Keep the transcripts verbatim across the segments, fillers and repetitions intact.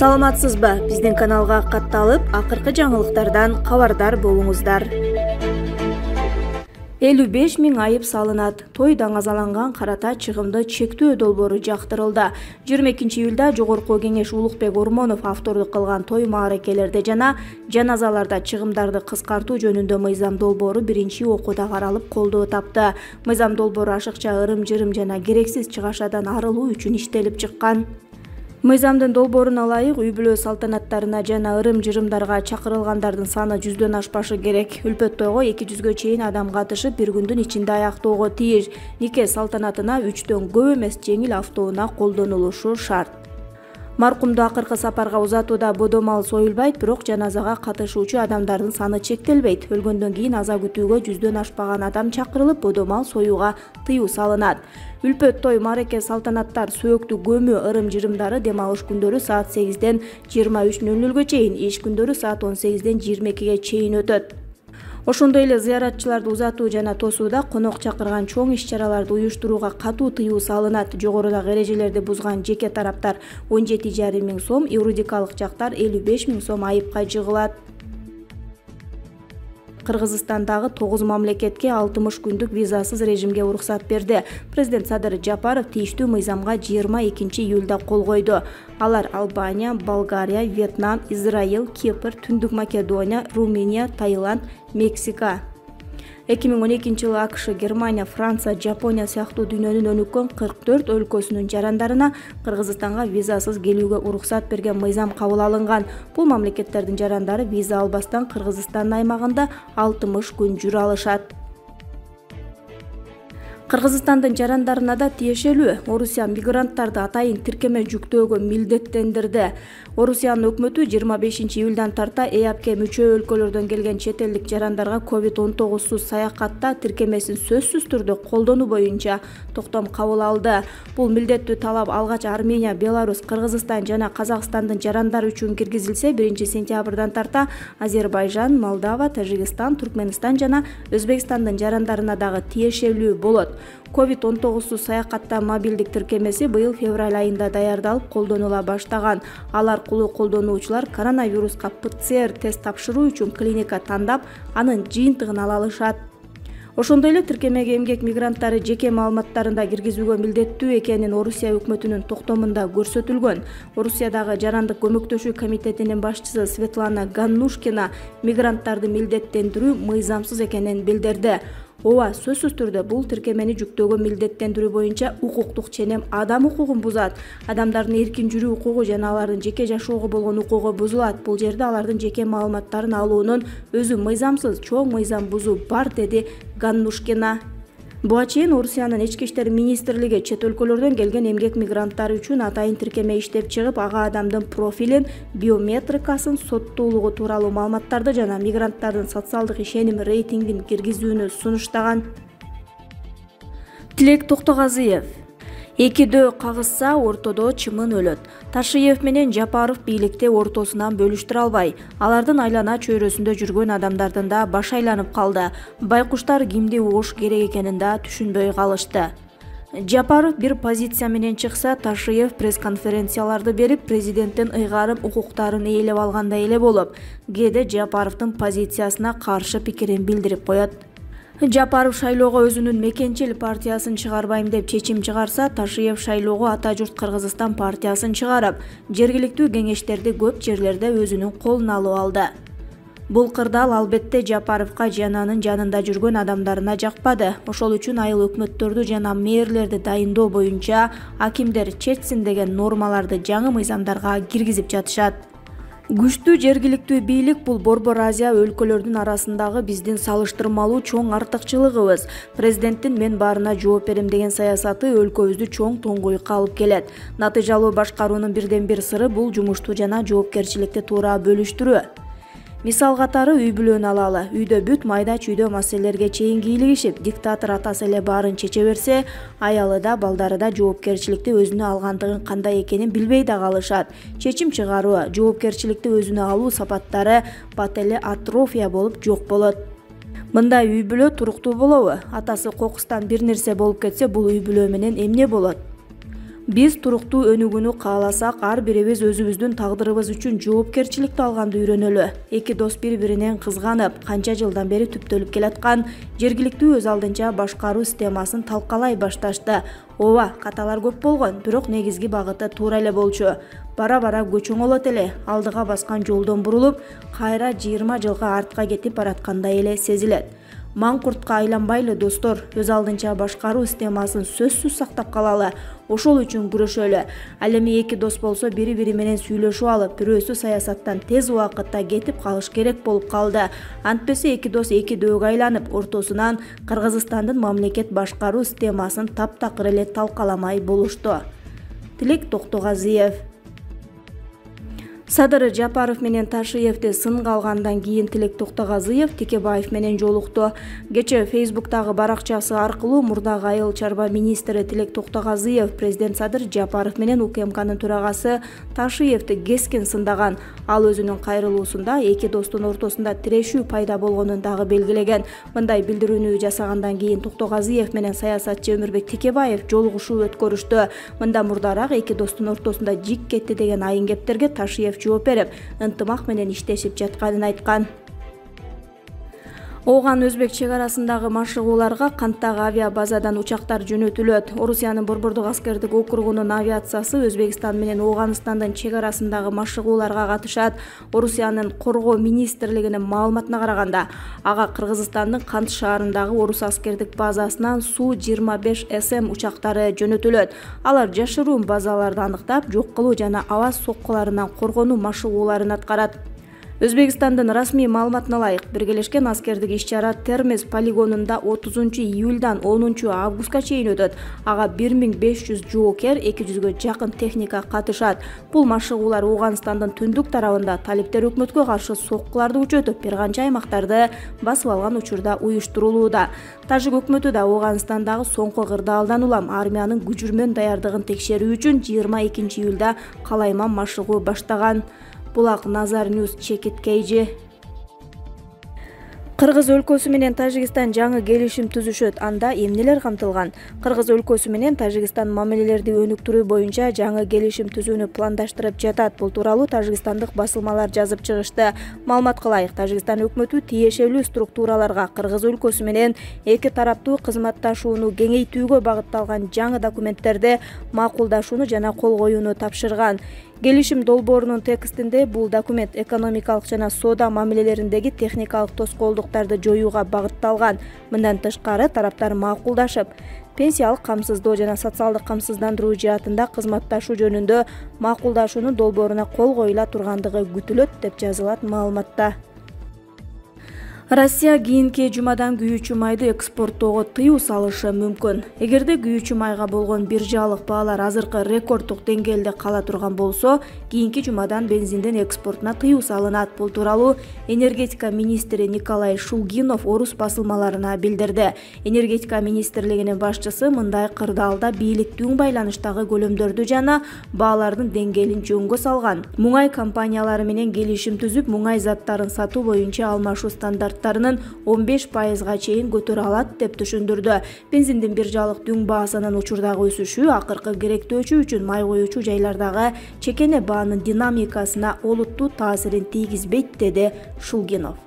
Саламатсызбы? Биздин каналга катталып, акыркы жаңылыктардан кабардар болуңуздар. элүү беш миң айып салынат. Той даңазаланган карата чыгымды чектөө долбоору жактырылды. жыйырма экинчи июлда Жогорку Кеңеш Улукбек Ормонов автордук кылган той мааракелерде жана жаназаларда чыгымдарды кыскартуу жөнүндө мыйзам долбоору биринчи окууда каралып колдоо тапты. Мыйзам долбоору ашыкча ырым-жырым жана керексиз чыгашадан арылуу үчүн иштелип чыккан. Мыйзамдын долбооруна ылайык үй бүлө салтанаттарына жана ырым-жырымдарга чакырылгандардын саны жүздөн ашпашы керек. Үлпөт тойго эки жүзгө чейин адам катышып, бир күндүн ичинде аяктоого тийиш. Нике салтанатына үчтөн көп эмес жеңил автоунаа колдонулушу шарт. Маркумду акыркы сапарга узатууда бодо мал союлбайт, бирок жаназага катышуучу адамдардын саны чектелбейт. Өлгөндөн кийин аза күтүүгө жүздөн ашпаган адам чакырылып, бодо мал союуга тыюу салынат. Үлпөт той, маареке, салтанаттар, сөөктү көмүү, ырым-жырымдары дем алыш күндөрү саат сегизден жыйырма үч нөл нөлгө чейин, иш күндөрү саат он сегизден жыйырма экиге чейин өтөт. Ошондой эле зыяратчыларды узатуу жана тосууда конок чакырган чоң иш-чараларды уюштурууга катуу тыюу салынат. Жогорудагы эрежелерди бузган жеке тараптар он жети жарым миң сом, юридикалык жактар элүү беш миң сом айыпка жыгылат. Кыргызстандагы тогуз мамлекетке алтымыш күндүк визасыз режимге уруксат берди. Президент Садыр Жапаров тийиштүү мыйзамга жыйырма экинчи июлда кол койду. Алар Албания, Болгария, Вьетнам, Израиль, Кипр, Түндүк Македония, Румыния, Таиланд, Мексика. эки миң он экинчи жылы АКШ, Германия, Франция, Жапония сыяктуу дүйнөнүн өнүккөн кырк төрт өлкөсүнүн жарандарына Кыргызстанга визасыз келүүгө уруксат берген мыйзам кабыл алынган. Бул мамлекеттердин жарандары виза албастан Кыргызстандын аймагында алтымыш күн жүрө алышат. Кыргызстандын жарандарына да тиешелүү. Орусия мигранттарды атайын тиркеме жүктөөгө милдеттендирди. Орусиянын өкмөтү жыйырма бешинчи июлдан тарта ЭАПке мүчө өлкөлөрдөн келген чет элдик жарандарга ковид он тогузсуз саякатта тиркемесин сөзсүз түрдө колдонуу боюнча токтом кабыл алды. Бул милдеттүү талап алгач Армения, Беларусь, Кыргызстан жана Казакстандын жарандары үчүн киргизилсе, биринчи сентябрдан тарта Азербайжан, Молдова, Тажикстан, Түркмөнстан жана Өзбекстандын жарандарына дагы тиешелүү болот. ковид он тогузсуз саякатта мобилдик тиркемеси быйыл февраль айында даярдалып колдонула баштаган. Ал аркылуу колдонуучулар коронавируска ПЦР тест тапшыруу үчүн клиника тандап, анын жыйынтыгын ала алышат. Ошондой эле тиркемеге эмгек мигранттары жеке маалыматтарында киргизүүгө милдеттүү экенин Орусия өкмөтүнүн токтомунда көрсөтүлгөн. Орусиядагы жарандык көмөктөшүү комитетинин башчысы Светлана Ганнушкина мигранттарды милдеттендирүү мыйзамсыз экенин билдирди. Ооба, сөзсүз түрдө бул тиркемени жүктөөгө милдеттендирүү боюнча укуктук ченем адам укугун бузат. Адамдардын эркин жүрүү укугу жана алардын жеке жашоого болгон укугу бузулат. Бул жерде алардын жеке маалыматтарын алуунун өзү мыйзамсыз, чоң мыйзам бузуу бар, деди Ганнушкина. Буга чейин Орусиянын ички иштер министрлиги чет өлкөлөрдөн келген эмгек мигранттары үчүн атайын тиркеме иштеп чыгып, ага адамдын профилин, биометрикасын, соттуулугу тууралуу маалыматтарды жана мигранттардын социалдык ишеним рейтингин киргизүүнү сунуштаган. Тилек Токтогазыев: экидөө кагышса ортодо чымын өлөт. Ташиев менен Жапаров бийликти ортосунан бөлүштүрө албай, алардын айлана чөйрөсүндө жүргөн адамдардын да баш айланып калды. Байкуштар кимди угуш керек экенин да түшүнбөй калышты. Жапаров бир позиция менен чыкса, Ташиев пресс-конференцияларды берип, президенттин ыйгарым укуктарын ээлеп алгандай эле болуп, кээде Жапаровдун позициясына каршы пикирин билдирип коет. Жапаров шайлоого өзүнүн мекенчил партиясын чыгарбайм деп чечим чыгарса, Ташиев шайлоого Ата журт Кыргызстан партиясын чыгарып, жергиликтүү кеңештерди көп жерлерде өзүнүн колуна алып алды. Бул кырдаал албетте Жапаровка жананын жанында жүргөн адамдарына жакпады. Ошол үчүн айыл өкмөттөрдү жана мэрлерди дайындоо боюнча акимдер чечсин деген нормаларды жаңы мыйзамдарга киргизип жатышат. Күчтүү жергиликтүү бийлик — бул Борбор Азия өлкөлөрдүн арасындагы биздин салыштырмалуу чоң артыкчылыгыбыз. Президенттин мен баарына жооп берем деген саясаты өлкөбүздү чоң тоңгуюкка алып келет. Натыйжалуу башкаруунун бирден бир сыры бул жумушту жана жоопкерчиликти туура бөлүштүрүү. Мисал катары үй бүлөнү алалы. Үйдө бүт майда чүйдө маселелерге чейин кийлигишип, диктатор атасы эле баарын чече берсе, аялы да, балдары да жоопкерчиликти өзүнө алгандыгын кандай экенин билбей да калышат. Чечим чыгаруу, жоопкерчиликти өзүнө алуу сапаттары пателеатрофия болуп жок болот. Мындай үй бүлө туруктуу болобу? Атасы кокустан бир нерсе болуп кетсе, бул үй бүлө менен эмне болот? Биз туруктуу өнүгүүнү кааласак, ар бирибиз өзүбүздүн тагдырыбыз үчүн жоопкерчиликти алганды үйрөнөлү. Эки дос бири-биринен кызганып, канча жылдан бери түптөлүп келаткан жергиликтүү өз алдынча башкаруу системасын талкалай башташты. Ооба, каталар көп болгон, бирок негизги багыты туура эле болчу. Бара-бара көчөңөлөт эле, алдыга баскан жолдон бурулуп, кайра жыйырма жылга артка кетип бараткандай эле сезилет. Маңкуртка айланбайлы достор, өз алдынча башкаруу системасын сөзсүз сактап калалы, ошол үчүн күрөшөлү. Ал эми эки дос болсо бири-бири менен сүйлөшүп алып, бирөөсү саясаттан тез убакытта кетип калыш керек болуп калды. Антпесе эки дос эки дөөгө айланып, ортосунан Кыргызстандын мамлекет башкаруу системасын таптакыр эле талкаламай болушту. Тилек Токтогазиев. Садыр Жапаров менен Ташиевди сынга алгандан кийин Тилек Токтогазиев Текебаев менен жолукту. Кечээ Фейсбуктагы баракчасы аркылуу мурдагы айыл чарба министри Тилек Токтогазиев президент Садыр Жапаров менен УКМКнын төрагасы Ташиевди кескен сындаган. Ал өзүнүн кайрылуусунда эки достун ортосунда тирешүү пайда болгонун дагы белгилеген. Мындай билдирүүнү жасагандан кийин Токтогазиев менен саясатчы Өмүрбек Текебаев жолугушуу өткөрүштү. Мында мурдараак эки достун ортосунда жик кетти деген айын кептерге Ташиев жооп берип, ынтымак менен иштешип жатканын айткан. Ооган Өзбек чек арасындагы машыгууларга канттагы авиабазадан учактар жөнөтүлөт. Орусиянын Борбордук аскердик округунун авиациясы Өзбекстан менен Ооганстандын чек арасындагы машыгууларга катышат. Орусиянын коргоо министрлигинин маалыматына караганда, ага Кыргызстандын Кант шаарындагы орус аскердик базасынан Су жыйырма беш эс эм учактары жөнөтүлөт. Алар жашыруун базаларды аныктап, жок кылуу жана аба соккуларынан коргонуу машыгууларын аткарат. Өзбекстандын расмий маалыматына ылайык, биргелешкен аскердик иш-чара Термез полигонунда отузунчу июлдан онунчу августка чейин өтөт. Ага бир миң беш жүз жоокер, эки жүзгө жакын техника катышат. Бул машыгуулар Ооганстандын түндүк тарабында талиптер өкмөткө каршы соккуларды күчөтүп, бир канча аймактарды басып алган учурда уюштурулууда. Тажик өкмөтү да Ооганстандагы соңку кырдаалдан улам армиянын күжүрмөн даярдыгын текшерүү үчүн жыйырма экинчи июлда калайман машыгуу баштаган. Булак Назар Ньюс Чекит Кейжи. Кыргыз өлкөсү менен Тажикстан жаңы келишим түзүшөт. Анда эмнелер камтылган? Кыргыз өлкөсү менен Тажикстан мамилелерди өнүктүрүү боюнча жаңы келишим түзүүнү пландаштырып жатат. Бул тууралуу тажикстандык басылмалар жазып чыгышты. Маалыматка ылайык, Тажикстан өкмөтү тиешелүү структураларга Кыргыз өлкөсү менен эки тараптуу кызматташууну кеңейтүүгө багытталган жаңы документтерди макулдашууну жана кол коюуну тапшырган. Келишим долбоорунун текстинде бул документ экономикалык жана соода мамилелериндеги техникалык тоскоолдуктарды жоюуга багытталган. Мындан тышкары тараптар макулдашып, пенсиялык камсыздоо жана социалдык камсыздандыруу жаатында кызматташуу жөнүндө макулдашуунун долбооруна кол коюла тургандыгы күтүлөт, деп жазылат маалыматта. Россия кийинки жумадан күйүүчү майды экспорттоого тыюу салышы мүмкүн. Эгерде күйүүчү майга болгон биржалык баалар азыркы рекорддук деңгээлде кала турган болсо, кийинки жумадан бензиндин экспортуна тыюу салынат. Бул тууралуу энергетика министри Николай Шулгинов орус басылмаларына билдирди. Энергетика министрлигинин башчысы мындай кырдаалда бийликтүү байланыштагы көлөмдөрдү жана баалардын деңгээлин жөнгө салган. Муңай компаниялары менен келишим түзүп, муңай заттарын сатуу боюнча алмашуу стандарт он беш пайызга чейин көтөрө алат, деп түшүндүрдү. Бензиндин биржалык дүң баасынын учурдагы өсүшү акыркы керектөөчү үчүн май коюучу жайлардагы чекене баанын динамикасына олуттуу таасирин тийгизбейт, деди Шулгинов.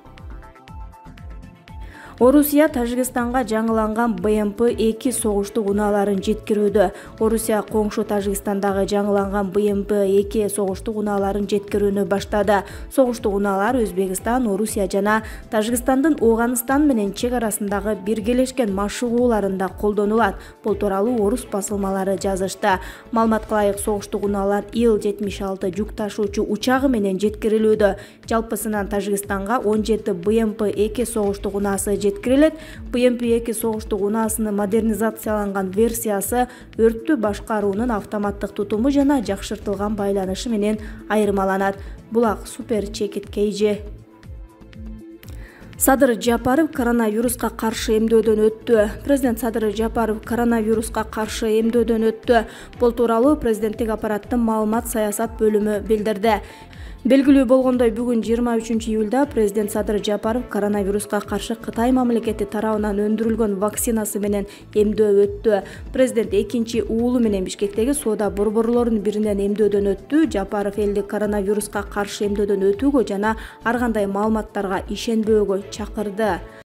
Орусия Тажикстанга жаңыланган бэ эм пэ эки согуштук унааларын жеткирүүдө. Орусия коңшу Тажикстандагы жаңыланган бэ эм пэ эки согуштук унааларын жеткирүүнү баштады. Согуштук унаалар Өзбекстан, Орусия жана Тажикстандын Ооганстан менен чек арасындагы биргелешкен машыгууларында колдонулат. Бул тууралуу орус басылмалары жазышты. Маалыматка ылайык, согуштук унаалар Ил жетимиш алты жүк ташуучу учагы менен жеткирилүүдө. Жалпысынан Тажикстанга он жети бэ эм пэ эки согуштук унаасы жеткирилет. бэ эм пэ эки согуштук унаасынын модернизацияланган версиясы өрттү башкаруунун автоматтык тутуму жана жакшыртылган байланышы менен айырмаланат. Булак Супер Чекит Кейжи. Садыр Жапаров коронавируска каршы эмдөөдөн өттү. Президент Садыр Жапаров коронавируска каршы эмдөөдөн өттү. Бул тууралуу президенттик аппараттын маалымат саясат бөлүмү билдирди. Белгилүү болгондой, бүгүн жыйырма үчүнчү июлда президент Садыр Жапаров коронавируска каршы Кытай мамлекети тарабынан өндүрүлгөн вакцинасы менен эмдөө өттү. Президент экинчи уулу менен Бишкектеги соода борборлорунун биринен эмдөөдөн өттү. Жапаров элди коронавируска каршы эмдөөдөн өтүүгө жана ар кандай маалыматтарга ишенбөөгө чакырды.